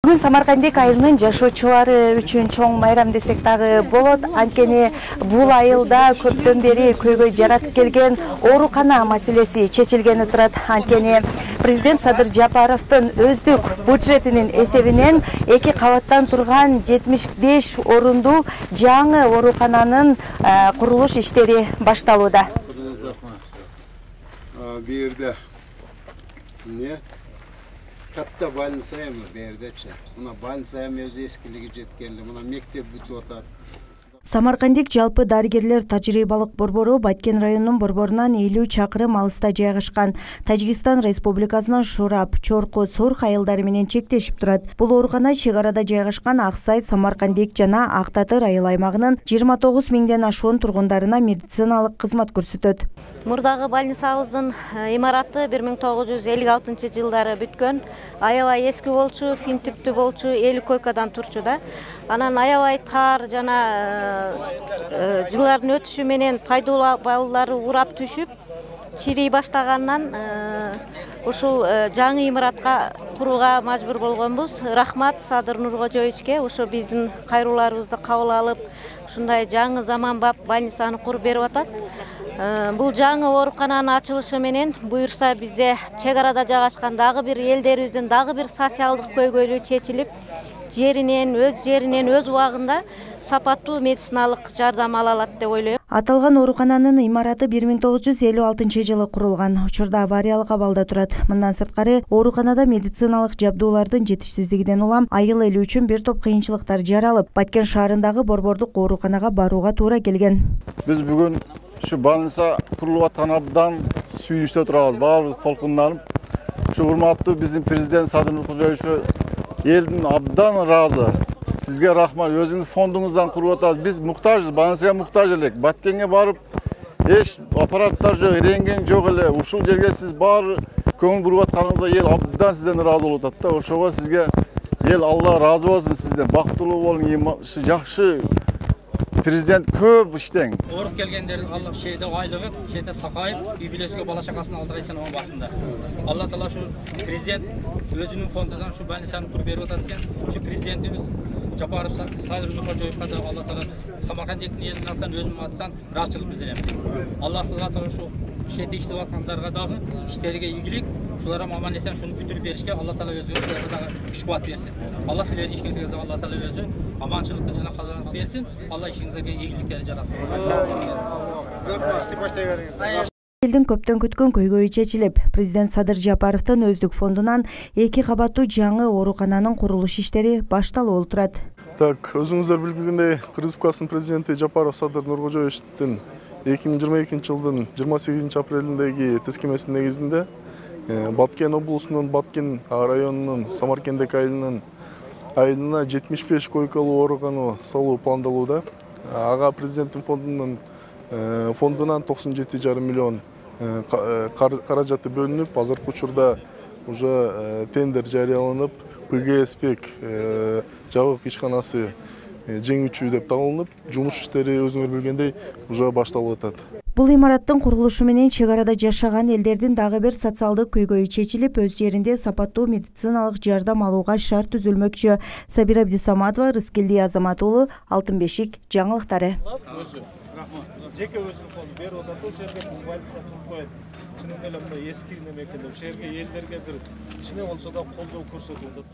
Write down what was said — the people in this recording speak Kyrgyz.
Бүгүн Самаркандик айылынын жашоочулары үчүн чоң майрам десек дагы болот. Анткени бул айылда көптөн бери көйгөй жаратып келген оорукана маселеси чечилгени турат. Анткени президент Садыр Жапаровдун өздүк бюджетинин эсебинен 2 кабаттан турган 75 орундуу жаңы оорукананын курулуш иштери башталууда. Бирде не? Katta больницая mı berdeçi? Buna больницая mı özü eskiligi жеткенде, buna мектеп бүтүп атат. Самаркандик жалпы дарыгерлер тажрыйбалык борбору Баткен районунун борборунан 50 чакырым алыста жайгашкан. Тажикстан Республикасынын Шурап, Чорко, Сурх айылдары менен чектешип турат. Бул оорукана чек арада жайгашкан Аксай, Самаркандик жана Ак Татыр айыл аймагынын 29 миңден ашуун тургундарына медициналык кызмат көрсөтөт. Мурдагы больницабыздын имараты 1956-жылдары бүткөн. Аябай эски болчу, фин типтүү болчу, 50 койкадан турчу да. Анан аябай тар жана жылдардын өтүшү менен пайдалуу баллары урап түшүп, чирий баштагандан ушул жаңы имаратка курууга мажбур болгонбуз. Рахмат Садыр Нуркожоевичке ошо биздин кайрууларыбызды кабыл алып, ушундай жаңы заманбап больницаны куруп берип атат. Бул жаңы оорукананын ачылышы менен буюрса бизде чек арада жайгашкан дагы бир элдерибиздин дагы бир социалдык көйгөйлү чечилип, өз убагында сапаттуу медициналык жардам ала алат деп ойлойм. Аталган оорукананын имараты 1956-жылы курулган. Учурда авариялык абалда турат. Мындан сырткары ооруканада медициналык жабдуулардын жетишсиздигинен улам айыл эли үчүн бир топ кыйынчылыктар жаралып, Баткен шаарындагы борбордук ооруканага барууга туура келген. Биз бүгүн şu больница kurulup aткан абдан сүйүнүштө турабыз. Баарыбыз толкунданып, şu урматтуу биздин президент Садыр Нуркожоевич элдин абдан ыраазы. Сизге рахмат. Өзүңүздүн фондуңуздан куруп атасыз. Биз муктажбыз, больницага муктаж элек. Баткенге барып, эч аппараттар жок, рентген жок эле. Ушул жерге сиз баары көңүл буруп атканыңызга эл абдан сизден ыраазы болуп атат да. Ошого сизге эл Алла ыраазы болсун сизден. Бактылуу болуң, жакшы президент көп иштең. Ооруп келгендердин Алла шерде айлыгы, жете сакайып, үй бүлөсүгө бала чакасына алдырайт санаган башында. Алла таала ушу президент өзүнүн фондунан ушу больницаны куруп берип атат экен. Ушу президентибиз Жапаров Садыр Нуркожоевке да Алла таала Самаркандиктин элинин атынан өзүмдүн аттан ыраазычылык билдирем. Алла таала ушу шерде иштеп аткандарга дагы иштериге ийгилик, ушуларга аман эсен шуну бүтүрүп беришке Алла таала өзү ушуларга дагы күч кубат берсин. Алла силердин ишкеңизге Алла таала өзү аманчылыкты жана кадырын берсин. Алла ишиңизге ийгиликтерди жаратсын. Элдин көптөн күткөн көйгөйү чечилип, президент Садыр Жапаровдун өздүк фондунан 2 кабаттуу жаңы оорукананын курулуш иштери башталып турат. Так, өзүңүздөр билгендей, Кыргыз Республикасынын президенти Жапаров Садыр Нуркожоевичтин 2022 жылдын 28 апрелиндеги тескемесинин негизинде Баткен облусунун Баткен районунун Самаркандик айылына 75 койкалуу оорукана салуу пландалууда. Ага президенттин фондунан 97,5 миллион каражаты бөлүнүп, азыркы учурда уже тендер жарыяланып, ПГС-фек жабык ишканасы жеңүүчү деп табылып, жумуш иштери өзүңөр билгендей уже башталып атат. Бул имараттын курулушу менен чек арада жашаган элдердин дагы бир социалдык көйгөйү чечилип, өз жеринде сапаттуу медициналык жардам алууга шарт түзүлмөкчү. Сабира Абдисаматова, Рыскелди Азамат уулу, Алтын бешик жаңылыктары. Жеке өзүнүн фонду берип атат, ошол жерге больница куруп коет. Чынында эле мындай эски неме экен, ошол жерге элдерге бир кичине болсо да колдоо көрсөтүп атат.